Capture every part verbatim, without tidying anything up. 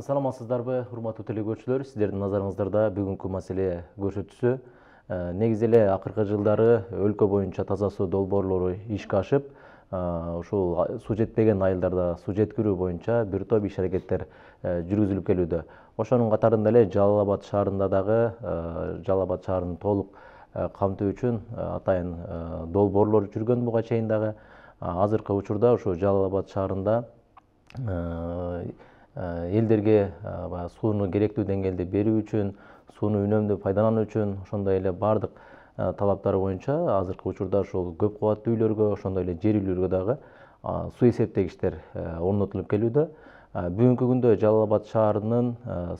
Саламатсыздарбы, урматтуу телекөрүүчүлөр? Сиздердин назарыңыздарда бүгүнкү маселе көрсөтүүсү. Негизи эле акыркы жылдары өлкө боюнча таза суу долбоорлору ишке ашып, ушул суу жетпеген айылдарда суу жеткирүү боюнча бир топ иш аракеттер жүргүзүлүп келүүдө. Ошонун катарында эле Жалал Абад шаарында дагы Жалал Абад шаарын толук камтуу үчүн атайын долбоорлор жүргөн буга чейин дагы. Азыркы учурда ушу Жалал Абад шаарында элдерге сууну керектүү деңгээлде берүү үчүн, сууну үнөмдүү пайдалануу үчүн, ошондой эле баардык талаптар боюнча азыркы учурда ушул көп кабаттуу үйлөргө, ошондой эле жер үйлөргө дагы суу эсептегичтер орнотулуп келүүдө. Бүгүнкү күндө Жалал Абад шаарынын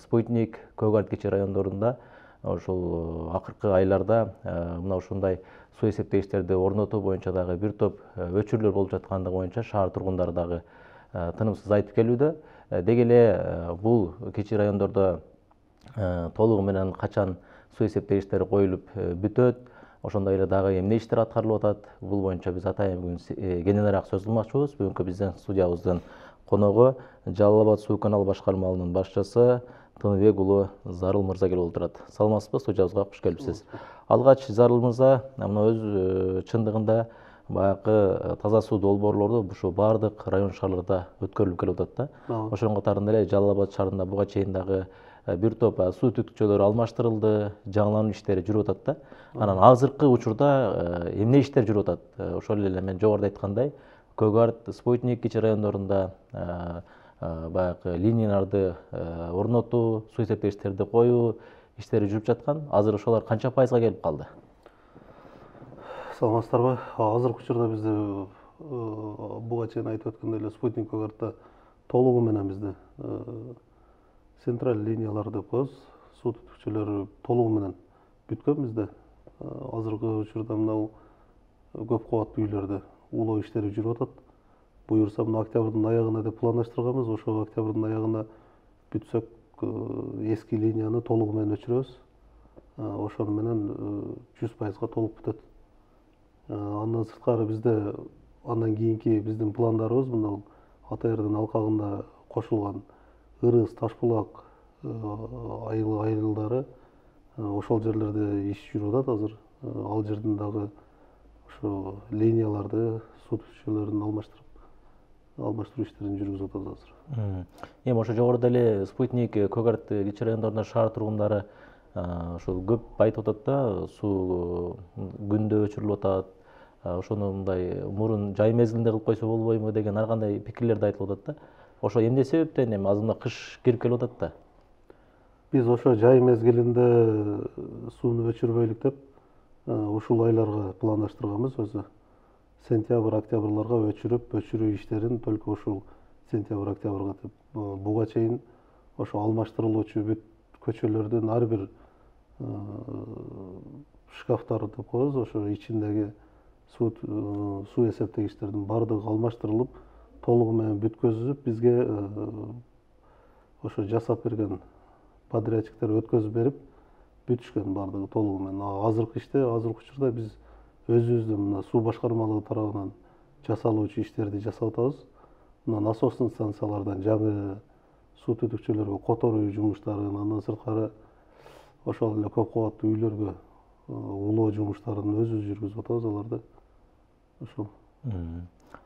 Спутник, Көк Арт кичи райондорунда ушул акыркы айларда мына ушундай суу эсептегичтерди орнотуу боюнча дагы бир топ өчүрлөр болуп жаткандыгы боюнча шаар тургундары дагы тынымсыз айтып келүүдө. Деги эле бул кичи райондордо толугу менен качан суу эсептегичтери коюлуп бүтөт, ошондой эле дагы эмне иштер аткарылып атат, бул боюнча биз атайын бүгүн кененирээк сөз кылмакчыбыз. Бүгүнкү биздин студиябыздын коногу Жалал Абад суу канал башкармалыгынын башчысы Тыныбек уулу Зарыл мырза келип отурат. Саламатсызбы, студиябызга кош келипсиз. Алгач Зарыл мырза мына өз чындыгында баягы таза суу долбоорлорду ушу баардык район шаарларда өткөрүлүп келип атат да. Ошонун катарында эле Жалал Абад шаарында буга чейин дагы бир топ суу түтүкчөлөр алмаштырылды, жаңылануу иштери жүрүп атат да. Анан азыркы учурда эмне иштер жүрүп атат? Ошол эле мен жогоруда айткандай, Көк Арт, Спутник кичи райондорунда баягы линияларды орнотуу, суу эсептегичтерди коюу иштери жүрүп жаткан. Азыр ошолор канча пайызга келип калды? Саламатсыздарбы? Азыркы учурда бизде буга чейин айтып өткөндөй эле Спутник, Көк Артта толугу менен бизде централь линиялар деп коебуз, суу түтүкчөлөрү толугу менен бүткөн бизде. Азыркы учурда мына көп кабаттуу үйлөрдө улоо иштери жүрүп атат. Буюрса мына октябрдын аягына деп пландаштырганбыз. Ошол октябрдын аягына бүтсөк, эски линияны толугу менен өчүрөбүз. Ошону менен жүз пайызга толук бүтөт. Андан сырткары бизде андан кийинки биздин пландарыбыз мына Ата Эрдин алкагында кошулган Ырыс, Ташбулак айылдары, ошол жерлерде иш жүрүп атат азыр. Ал жерден дагы ошо линияларды, суу түтүкчөлөрүн алмаштырып, алмаштыруу иштерин жүргүзүп атабыз азыр. Эми ошо жогоруда эле Спутник, Көк Арт кичи райондорунда шаар тургундары ошол көп айтып атат да, суу күндө өчүрүлүп атат. Ошону мындай мурун жай мезгилинде кылып койсо болбойбу деген ар кандай пикирлер да айтылып атат да. Ошо эмне себептен эми азырында кыш кирип келип атат да? Биз ошо жай мезгилинде сууну өчүрбөйлүк деп ушул айларга пландаштырганбыз өзү. Сентябрь, октябрларга өчүрүп, өчүрүү иштерин только ушул сентябрь, октябрга деп. Буга чейин ошо алмаштырылуучу бүт көчөлөрдүн ар бир шкафтары деп коебуз, ошо ичиндеги суу суу эсептегичтердин баардыгы алмаштырылып, толугу менен бүткөзүлүп, бизге ошо жасап берген подрядчиктер өткөзүп берип, бүтүшкөн баардыгы толугу менен. Азыркы иште, азыркы учурда биз өзүбүздүн мына суу башкармалыгы тарабынан жасалуучу иштерди жасап атабыз. Мына насостун станциялардан жаңы суу түтүкчөлөргө которуу жумуштарын, андан сырткары ошол эле көп кабаттуу үйлөргө улоо жумуштарын өзүбүз жүргүзүп атабыз аларды. Ошол.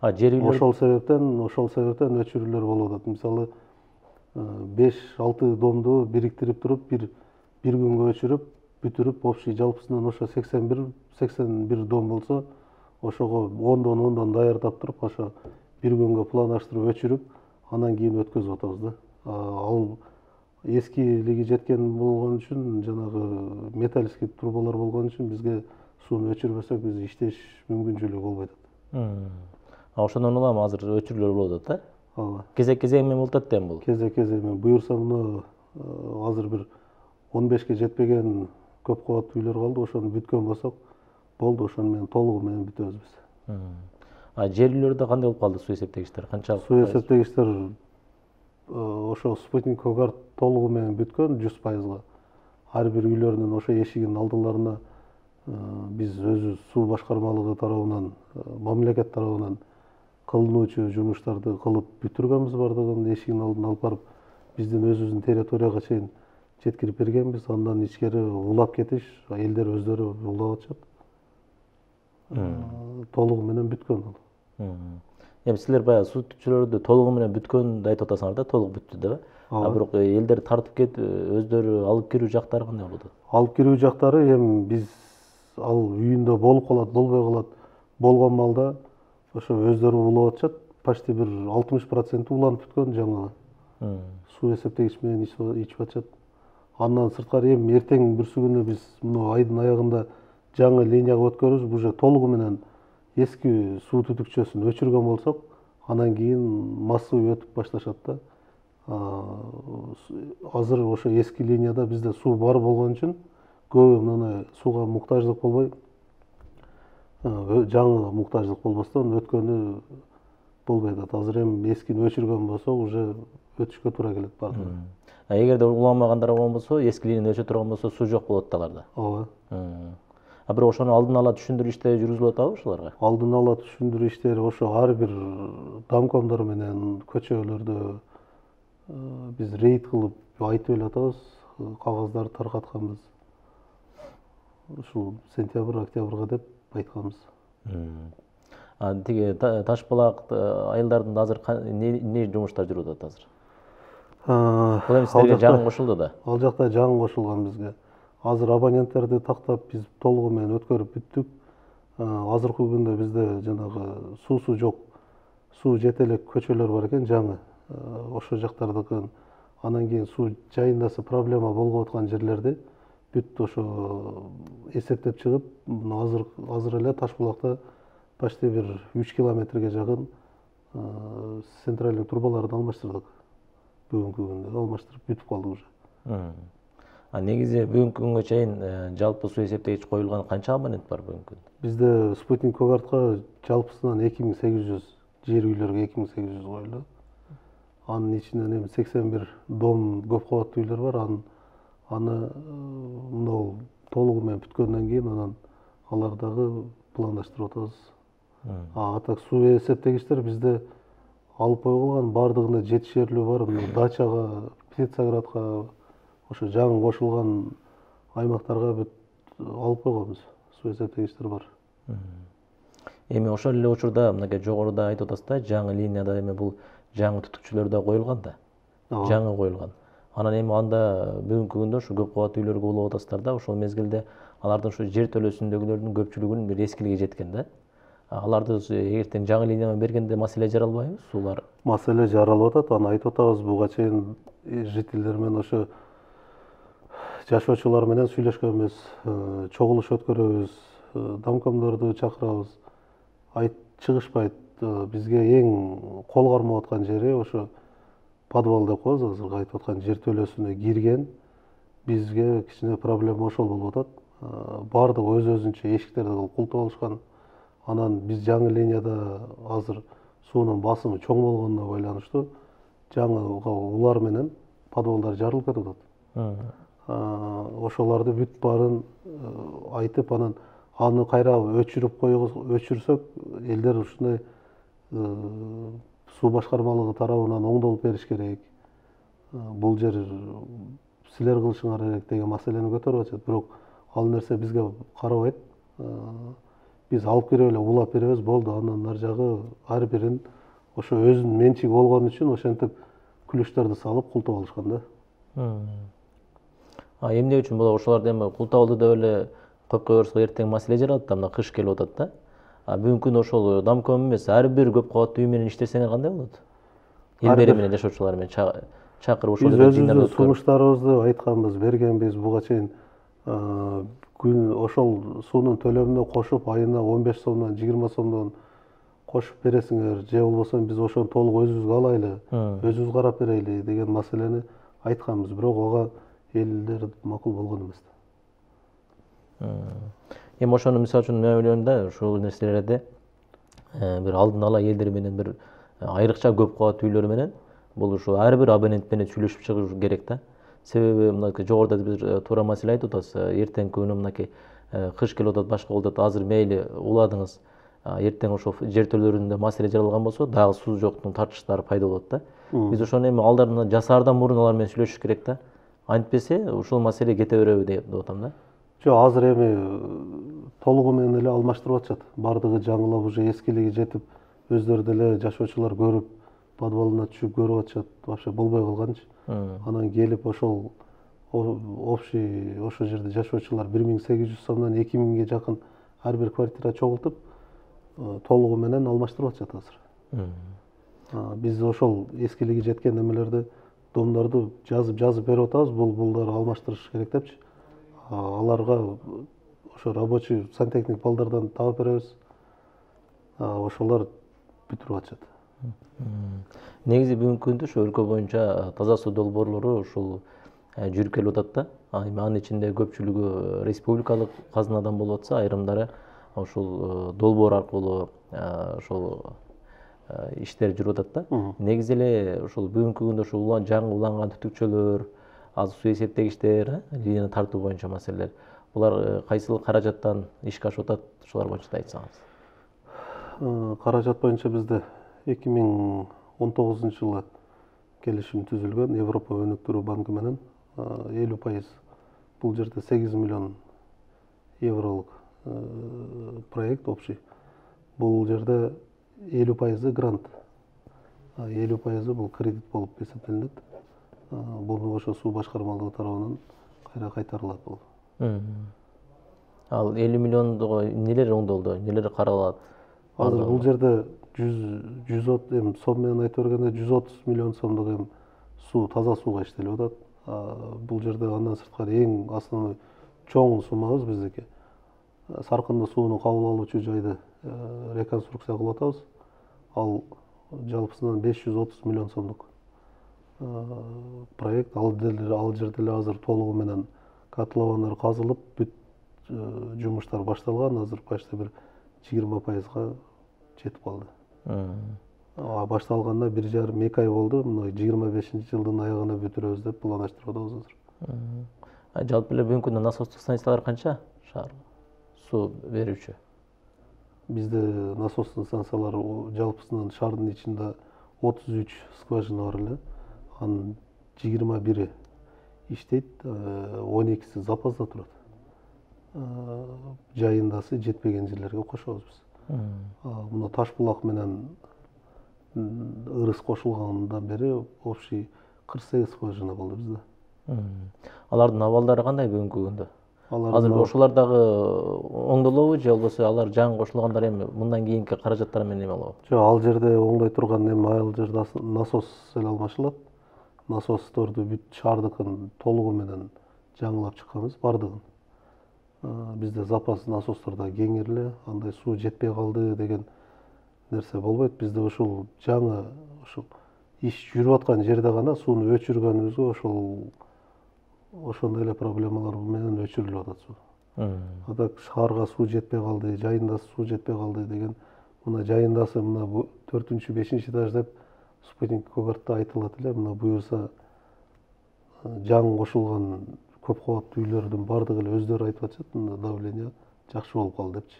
А жер үйлөр ошол себептен, ошол себептен өчүрүүлөр болуп атат. Мисалы, беш алты домду бириктирип туруп, бир бир күнгө өчүрүп, бүтүрүп, общий жалпысынан ошо сексен бир сексен бир дом болсо, ошого ондон ондон даярдап туруп, ошо бир күнгө пландаштырып өчүрүп, андан кийин өткөзүп атабыз да. Ал эскилиги жеткен болгон үчүн, жанагы металлический трубалар болгон үчүн бизге сууну өчүрбөсөк, биз иштеш мүмкүнчүлүгү болбой атат. А ошондон улам азыр өчүрүүлөр болуп атат да? Ооба. Кезек кезең менен болуп атат да эми бул. Кезек кезең менен. Буюрса мына азыр бир он бешке жетпеген көп кабаттуу үйлөр калды. Ошону бүткөн болсок, болду, ошону менен толугу менен бүтөбүз биз. А жер үйлөрдө кандай болуп калды суу эсептегичтер? Канчалык? Суу эсептегичтер ошо Спутник, Көк Арт толугу менен бүткөн жүз пайызга. Ар бир үйлөрдүн ошо эшигинин алдыларына биз өзүбүз суу башкармалыгы тарабынан, мамлекет тарабынан кылынуучу жумуштарды кылып бүтүргөнбүз баардыгын, эшигин алдын алып барып биздин өзүбүздүн территорияга чейин жеткирип бергенбиз. Андан ичкери улап кетиш, элдер өздөрү улап атышат. Толугу менен бүткөн ал. Эми силер баягы суу түтүкчүлөрдү толугу менен бүткөндү айтып атасыңар да, толук бүттү деп. А бирок элдер тартып кетип өздөрү алып кирүү жактары кандай болду? Алып кирүү жактары эми биз ал үйүндө болуп калат, болбой калат. Болгон маалда ошо өздөрү улап атышат. Почти бир алтымыш проценти уланып бүткөн жаңы. Суу эсептегич менен ичип атышат. Андан сырткары эми эртең бүрсү күнү биз мына айдын аягында жаңы линияга өткөрүбүз. Уже толугу менен эски суу түтүкчөсүн өчүргөн болсок, анан кийин массовый өтүп башташат да. Азыр ошо эски линияда бизде суу бар болгон үчүн көбү мына сууга муктаждык болбой, жаңы муктаждык болбостон өткөнү болбой атат. Азыр эми эскини өчүргөн болсок, уже өтүшкө туура келет баардыгы. Эгерде уламагандар болбосо, эски линия өчө турган болсо, суу жок болот да аларда. Ооба. А бирок ошону алдын ала түшүндүрүү иштери жүргүзүлүп атабы ошолорго? Алдын ала түшүндүрүү иштери ошо ар бир домкомдор менен көчөлөрдө биз рейд кылып айтып эле атабыз, кагаздарды таркатканбыз. Ушул сентябрь, октябрга деп айтканбыз. А тиги Таш булак айылдарында азыр эмне жумуштар жүрүп атат азыр? Бул эми силерге жаңы кошулду да? Ал жакта жаңы кошулган бизге. Азыр абоненттерди тактап биз толугу менен өткөрүп бүттүк. Азыркы күндө бизде жанагы суусу жок, суу жете элек көчөлөр бар экен жаңы. Ошо жактардыкын анан кийин суу жайындасы проблема болуп аткан жерлерди бүт ошо эсептеп чыгып, азыр азыр эле Таш булакта почти бир үч километрге жакын центральный трубаларды алмаштырдык. Бүгүнкү күндө алмаштырып бүтүп калды уже. А негизи бүгүнкү күнгө чейин жалпы суу эсептегич коюлган канча абонент бар бүгүнкү күндө? Бизде спутник көгартка жалпысынан эки миң сегиз жүз, жер үйлөргө эки миң сегиз жүз коюлду. Анын ичинен эми сексен бир дом көп кабаттуу үйлөр бар. Аны аны мынау толугу менен бүткөндөн кийин анан алар дагы пландаштырып атабыз. А так суу эсептегичтер бизде алып койгон баардыгында жетишерлүү бар. Дачага, Птицаградка, ошо жаңы кошулган аймактарга бүт алып койгонбуз. Суу эсептегичтер бар. Эми ошол эле учурда мынакей жогоруда айтып атасыз да, жаңы линияда эми бул жаңы түтүкчүлөр да коюлган да. Жаңы коюлган. Анан эми анда бүгүнкү күндө ушу көп кабаттуу үйлөргө улап атасыздар да, ошол мезгилде алардын ушу жер төлөсүндөгүлөрдүн көпчүлүгүнүн бир эскилиги жеткен да. Аларды эгертең жаңы линия менен бергенде маселе жаралбайбы суулар? Маселе жаралып атат. Аны айтып атабыз. Буга чейин жителдер менен ошо жашоочулар менен сүйлөшкөнбүз, чогулуш өткөрөбүз, домкомдорду чакырабыз. Айт чыгышпайт. Бизге эң кол кармап аткан жери ошо подвал деп коебуз, азыркы айтып аткан жер төлөсүнө кирген. Бизге кичине проблема ошол болуп атат. Баардыгы өз-өзүнчө эшиктерди кылып култуп алышкан. Анан биз жаңы линияда азыр суунун басымы чоң болгонуна байланыштуу жаңыга улар менен подвалдар жарылып кетип атат. Ошолорду бүт баарын айтып, анан аны кайра өчүрүп коебуз, өчүрсөк, элдер ушундай суу башкармалыгы тарабынан оңдолуп бериш керек. Бул жер силер кылышыңар керек деген маселени көтөрүп атышат. Бирок ал нерсе бизге карабайт. Биз алып кирип эле улап беребиз, болду. Андан ар жагы ар бирин ошо өзүнүн менчиги болгон үчүн ошентип күлүштөрдү салып култуп алышкан да. А эмне үчүн болот? Ошолорду эми култап алды деп эле коюп койборсок эртең маселе жаралат да, мына кыш келип атат да. А бүгүнкү күндө ошол домком эмес, ар бир көп кабаттуу үй менен иштесеңер кандай болот? Эл бери менен жашоочулар менен чакырып ошол жерде жыйналып өткөрүп. Биз өзүбүздүн сунуштарыбызды айтканбыз, бергенбиз. Буга чейин күн ошол суунун төлөмүнө кошуп, айына он беш сомдон, жыйырма сомдон кошуп бересиңер, же болбосо биз ошону толук өзүбүзгө алайлы, өзүбүз карап берели деген маселени айтканбыз. Бирок ага элдер макул болгон эмес. Эми ошону мисалы үчүн мен ойлойм да, ушул нерселерди бир алдын ала элдер менен бир айрыкча көп кабаттуу үйлөр менен бул ушу ар бир абонент менен сүйлөшүп чыгыш керек да. Себеби мынакей жогоруда биз туура маселе айтып атабыз. Эртеңки күнү мынакей кыш келип атат, башка болуп атат. Азыр мейли уладыңыз. Эртең ошол жер төлөөрүндө маселе жаралган болсо, дагы суу жоктун тартыштары пайда болот да. Биз ошону эми алдарына жасаардан мурун алар менен сүйлөшүш керек да. Антпесе ушул маселе кете береби деп атам да. Жок, азыр эми толугу менен эле алмаштырып атышат. Бардыгы жаңылап уже эскилиги жетип, өздөрү деле жашоочулар көрүп, подвалына түшүп көрүп атышат. Вообще болбой калганчы. Анан келип ошол общий ошол жерде жашоочулар бир миң сегиз жүз сомдон эки миңге жакын ар бир квартира чогултуп, толугу менен алмаштырып атышат азыр. Биз ошол эскилиги жеткен немелерди, домдорду жазып жазып берип атабыз, бул булдар алмаштырыш керек депчи. Аларга ошо рабочий сантехник балдардан таап беребиз. Ошолор бүтүрүп атышат. Негизи бүгүнкү күндө ушу өлкө боюнча таза суу долбоорлору ушул жүрүп келип атат да. Анын ичинде көпчүлүгү республикалык казынадан болуп атса, айрымдары ушул долбоор аркылуу ошол иштер жүрүп атат да. Негизи эле ушул бүгүнкү күндө ушул жаңы уланган түтүкчөлөр, азыр суу эсептегичтер, линия тартуу боюнча маселелер. Булар кайсыл каражаттан ишке ашып атат, ошолор боюнча да айтсаңыз. Каражат боюнча бизде эки миң он тогузунчу жылы келишим түзүлгөн Европа өнүктүрүү банкы менен элүү пайыз. Бул жерде сегиз миллион евролук проект общий. Бул жерде элүү пайызы грант, элүү пайызы бул кредит болуп эсептелинет. Буну ошо суу башкармалыгы тарабынан кайра кайтарылат бул. Ал элүү миллионго нелер оңдолду, нелер каралат? Азыр бул жерде жүз эми сом менен айтып бергенде жүз отуз миллион сомдук эми суу, таза сууга иштелип атат. Бул жерде андан сырткары эң основной чоң суммабыз биздики. Саркындуу сууну кабыл алуучу жайды реконструкция кылып атабыз. Ал жалпысынан беш жүз отуз миллион сомдук проект. Ал жерде эле азыр толугу менен котловандар казылып, бүт жумуштар башталган. Азыр почти бир жыйырма пайызга жетип калды. Башталганда бир жарым эки ай болду. Мына жыйырма бешинчи жылдын аягына бүтүрөбүз деп пландаштырып атабыз азыр. Жалпы эле бүгүнкү күндө насостук станциялар канча шаар суу берүүчү? Бизде насостун станциялары жалпысынан шаардын ичинде отуз үч скважина бар эле. Анын жыйырма бири иштейт, он экиси запаста турат. Жайындасы жетпеген жерлерге кошобуз биз. Мына Ташбулак менен Ырыс кошулгандан бери общий кырк сегиз скважина болду бизде. Алардын абалдары кандай бүгүнкү күндө? Азыр ошолор дагы оңдолобу же болбосо алар жаңы кошулгандар эми мындан кийинки каражаттар менен эме болобу? Жок, ал жерде оңдой турган эми ал жерде насос эле алмашылат. Насосторду бүт шаардыкын толугу менен жаңылап чыкканбыз бардыгын. Бизде запас насостор да кеңир эле, андай суу жетпей калды деген нерсе болбойт. Бизде ушул жаңы ушул иш жүрүп аткан жерде гана сууну өчүргөнүбүзгө ошол ошондой эле проблемалар менен өчүрүлүп атат суу. Атак шаарга суу жетпей калды, жайындасы суу жетпей калды деген, мына жайындасы мына төртүнчү, бешинчи этаж деп спутник көгартта айтылат эле. Мына буюрса жаңы кошулган көп кабаттуу үйлөрдүн бардыгы эле өздөрү айтып атышат, мына давление жакшы болуп калды депчи.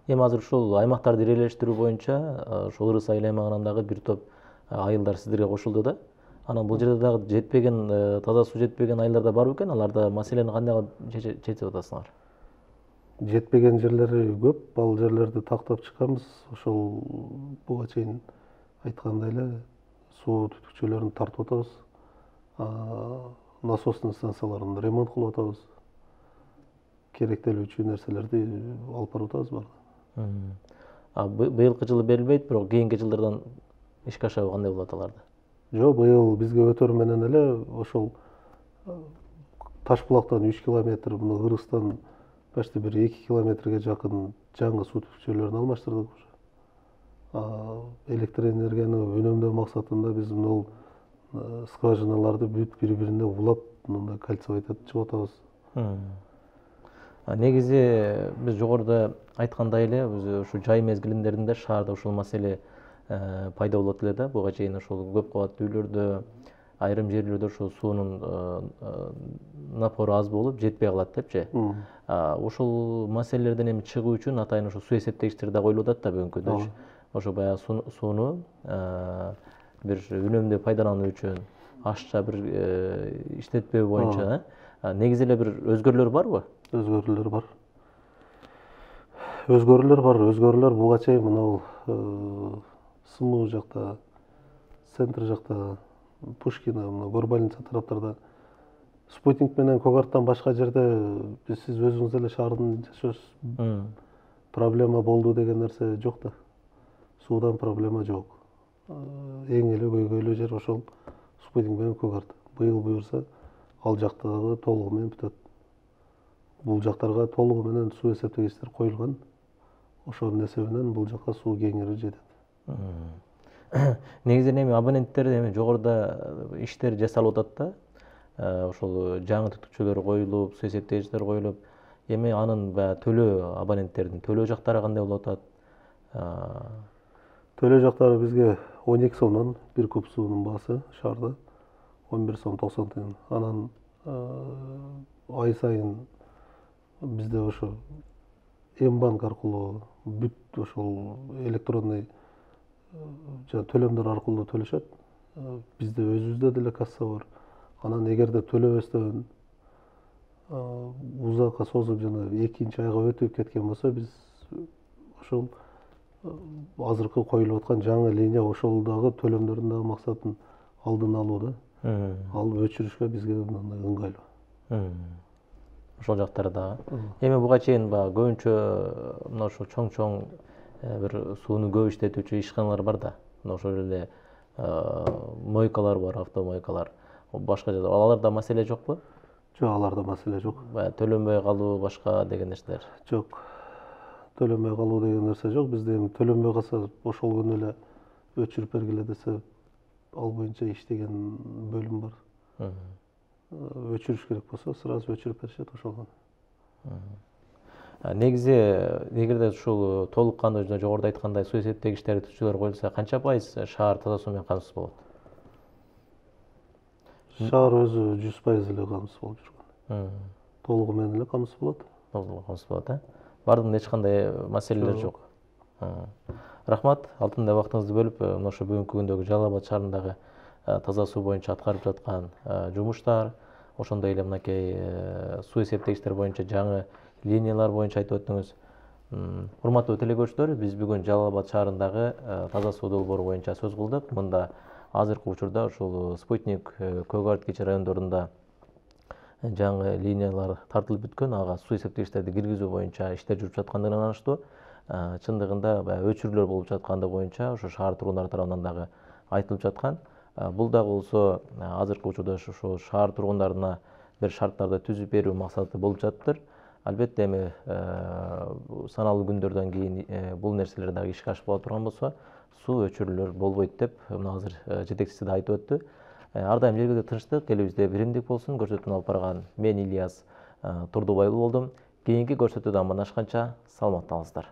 Эми азыр ушул аймактарды ирелештирүү боюнча ошол Ырыс айыл аймагынан дагы бир топ айылдар сиздерге кошулду да. Анан бул жерде дагы жетпеген, таза суу жетпеген айылдар да бар бекен? Аларда маселени кандай чечип атасыңар? Жетпеген жерлери көп. Ал жерлерди тактап чыкканбыз. Ошол буга чейин айткандай эле суу түтүкчөлөрүн тартып атабыз. Насостун станцияларын ремонт кылып атабыз. Керектелүүчү нерселерди алып барып атабыз баары. Быйылкы жылы берилбейт, бирок кийинки жылдардан ишке ашабы кандай болот аларды? Жок, быйыл бизге өтөр менен эле ошол Ташбулактан үч километр, мына Ырыстан почти бир эки километрге жакын жаңы суу түтүкчөлөрүн алмаштырдык. Электр энергияны үнөмдөө максатында биз бул скважиналарды бүт бири-бирине улап, мындай кольцо этип атабыз. Негизи биз жогоруда айткандай эле, ушу жай мезгилиндеринде шаарда ушул маселе пайда болот эле да. Буга чейин ошол көп кабаттуу үйлөрдө, айрым жерлерде ошол суунун напору аз болуп жетпей калат депчи. Ушул маселелерден эми чыгуу үчүн атайын ошо суу эсептегичтер да коюлуп атат да бүгүнкү күндө. Ошо баягы сууну бир үнөмдүү пайдалануу үчүн ашча бир иштетпөө боюнча негизи эле бир өзгөрүүлөр барбы? Өзгөрүүлөр бар. Өзгөрүүлөр бар. Өзгөрүүлөр буга чейин мына СМУ жакта, центр жакта, Пушкина, мына Горбольница тараптарда спутник менен Когарттан башка жерде сиз өзүңүз эле шаардын жашоосуз проблема болду деген нерсе жок да. Суудан проблема жок. Эң эле көйгөйлүү жер ошол спутник менен Когарт. Быйыл буюрса ал жактагы толугу менен бүтөт. Бул жактарга толугу менен суу эсептегичтер коюлган. Ошонун эсебинен бул жакка суу кеңири жетет. Негизинен эми абоненттер эми жогоруда иштер жасалып атат да. Ошол жаңы түтүкчөлөр коюлуп, суу эсептегичтер коюлуп, эми анын баягы төлөө абоненттердин төлөө жактары кандай болуп атат? Төлөө жактары бизге он эки сомдон бир куб суунун баасы шаарда он бир сом токсон тыйын. Анан ай сайын бизде ошо М-банк аркылуу бүт ошол электронный жана төлөмдөр аркылуу төлөшөт. Бизде өзүбүздө деле касса бар. Анан эгерде төлөбөстөн узакка созуп жана экинчи айга өтүп кеткен болсо, биз ошол азыркы коюлуп аткан жаңы линия ошол дагы төлөмдөрдүн дагы максатын алдын алуу да. Алып өчүрүшкө бизге мындай ыңгайлуу. Ошол жактары дагы. Эми буга чейин баягы көбүнчө мына ошол чоң-чоң бир сууну көп иштетүүчү ишканалар бар да. Мына ошол эле мойкалар бар, автомойкалар. Башка жерде аларда маселе жокпу? Жок, аларда маселе жок. Баягы төлөнбөй калуу, башка деген нерселер. Жок. Төлөнбөй калуу деген нерсе жок. Бизде эми төлөнбөй калса, ошол күнү эле өчүрүп бергиле десе, ал боюнча иштеген бөлүм бар. Өчүрүш керек болсо, сразу өчүрүп беришет ошол. Негизи эгерде ушул толук кандуу жогоруда айткандай суу эсептегичтер, түтүкчөлөр коюлса, канча пайыз шаар таза суу менен камсыз болот? Шаар өзү жүз пайыз эле камсыз болуп жүргөн. Толугу менен эле камсыз болот. Толугу камсыз болот, э? Бардыгында эч кандай маселелер жок. Рахмат, алтындай убактыңызды бөлүп, мына ошо бүгүнкү күндөгү Жалал Абад шаарындагы таза суу боюнча аткарып жаткан жумуштар, ошондой эле мынакей суу эсептегичтер боюнча жаңы линиялар боюнча айтып өттүңүз. Урматтуу телекөрүүчүлөр, биз бүгүн Жалал Абад шаарындагы таза суу долбоору боюнча сөз кылдык. Мында азыркы учурда ушул Спутник, Когарт кичи райондорунда жаңы линиялар тартылып бүткөн, ага суу эсептегичтерди киргизүү боюнча иштер жүрүп жаткандыгына ынаныштуу. Чындыгында баягы өчүрүүлөр болуп жаткандыгы боюнча ошо шаар тургундары тарабынан дагы айтылып жаткан. Бул дагы болсо азыркы учурда ошо шаар тургундарына бир шарттарды түзүп берүү максаты болуп жатыптыр. Албетте эми саналуу күндөрдөн кийин бул нерселер дагы ишке ашып кала турган болсо, суу өчүрүүлөр болбойт деп мына азыр жетекчиси да айтып өттү. Ар дайым жергиликтүү тынчтык, элибизде биримдик болсун. Көрсөтүүнү алып барган мен Ильяс Турдубайлуу болдум. Кийинки көрсөтүүдө амандашканча саламатта калыңыздар.